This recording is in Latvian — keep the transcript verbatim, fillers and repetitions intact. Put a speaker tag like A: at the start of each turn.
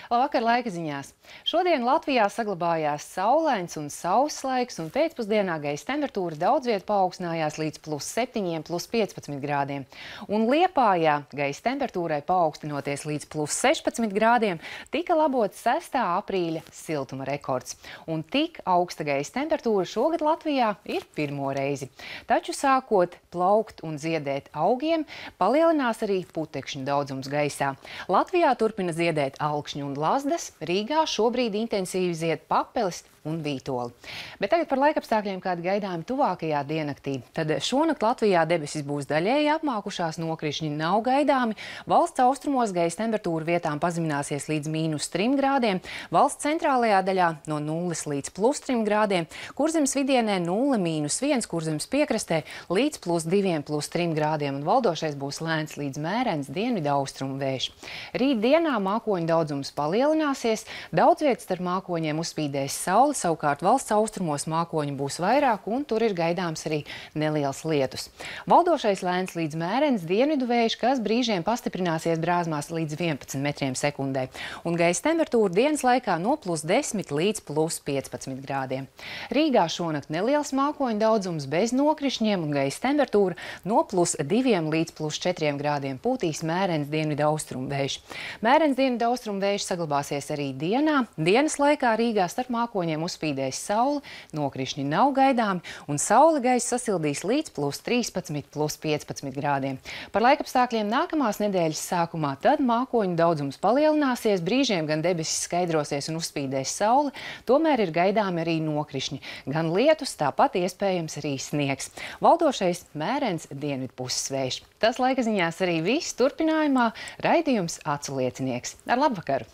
A: Labvakar, laika ziņās. Šodien Latvijā saglabājās saulains un sauss laiks, un pēcpusdienā gaisa temperatūra daudz viet paaugstinājās līdz plus septiņiem, plus piecpadsmit grādiem. Un Liepājā gaisa temperatūrai paaugstinoties līdz plus sešpadsmit grādiem, tika labots sestā aprīļa siltuma rekords. Un tik augsta gaisa temperatūra šogad Latvijā ir pirmo reizi. Taču sākot plaukt un ziedēt augiem, palielinās arī putekšņu daudzums gaisā. Latvijā turpina ziedēt alkšņu un lazdas, Rīgā šobrīd intensīvi zied papelis un vītoli. Bet tagad par laikapstākļiem, kādi gaidāmi tuvākajā diennaktī. Tad šonakt Latvijā debesis būs daļēji apmākušās, nokrišņi nav gaidāmi. Valsts austrumos gaisa temperatūra vietām pazemināsies līdz mīnus trim grādiem, valsts centrālajā daļā no nulles līdz plus trim grādiem, Kurzemes vidienē nulle mīnus viens, Kurzemes piekrastē līdz plus diviem, plus trim grādiem, un valdošais būs lēns līdz mērens dienvidu austrumu vējš. Rīt dienā mākoņu daudzums palielināsies, daudz vietas starp mākoņiem uzspīdēs saule. Savukārt valsts austrumos mākoņi būs vairāk, un tur ir gaidāms arī neliels lietus. Valdošais lēns līdz mērens dienvidu vējš, kas brīžiem pastiprināsies brāzmās līdz vienpadsmit metriem sekundē. Un gaisa temperatūra dienas laikā no plus desmit līdz plus piecpadsmit grādiem. Rīgā šonakt neliels mākoņu daudzums bez nokrišņiem, un gaisa temperatūra no plus diviem līdz plus četriem grādiem pūtīs mērens dienvidu austrumu vējš. Mērens dienvidu austrumu vējš saglabāsies arī dienā. Dienas laikā Rīgā starp mākoņiem uzspīdēs saule, nokrišņi nav gaidāmi, un saule gaisa sasildīs līdz plus trīspadsmit, plus piecpadsmit grādiem. Par laikapstākļiem nākamās nedēļas sākumā tad mākoņu daudzums palielināsies, brīžiem gan debesis skaidrosies un uzspīdēs saule, tomēr ir gaidāmi arī nokrišņi. Gan lietus, tāpat iespējams arī sniegs. Valdošais mērens dienvidpuses vējš. Tas laika ziņās arī viss. Turpinājumā raidījums Acu liecinieks. Ar labvakaru!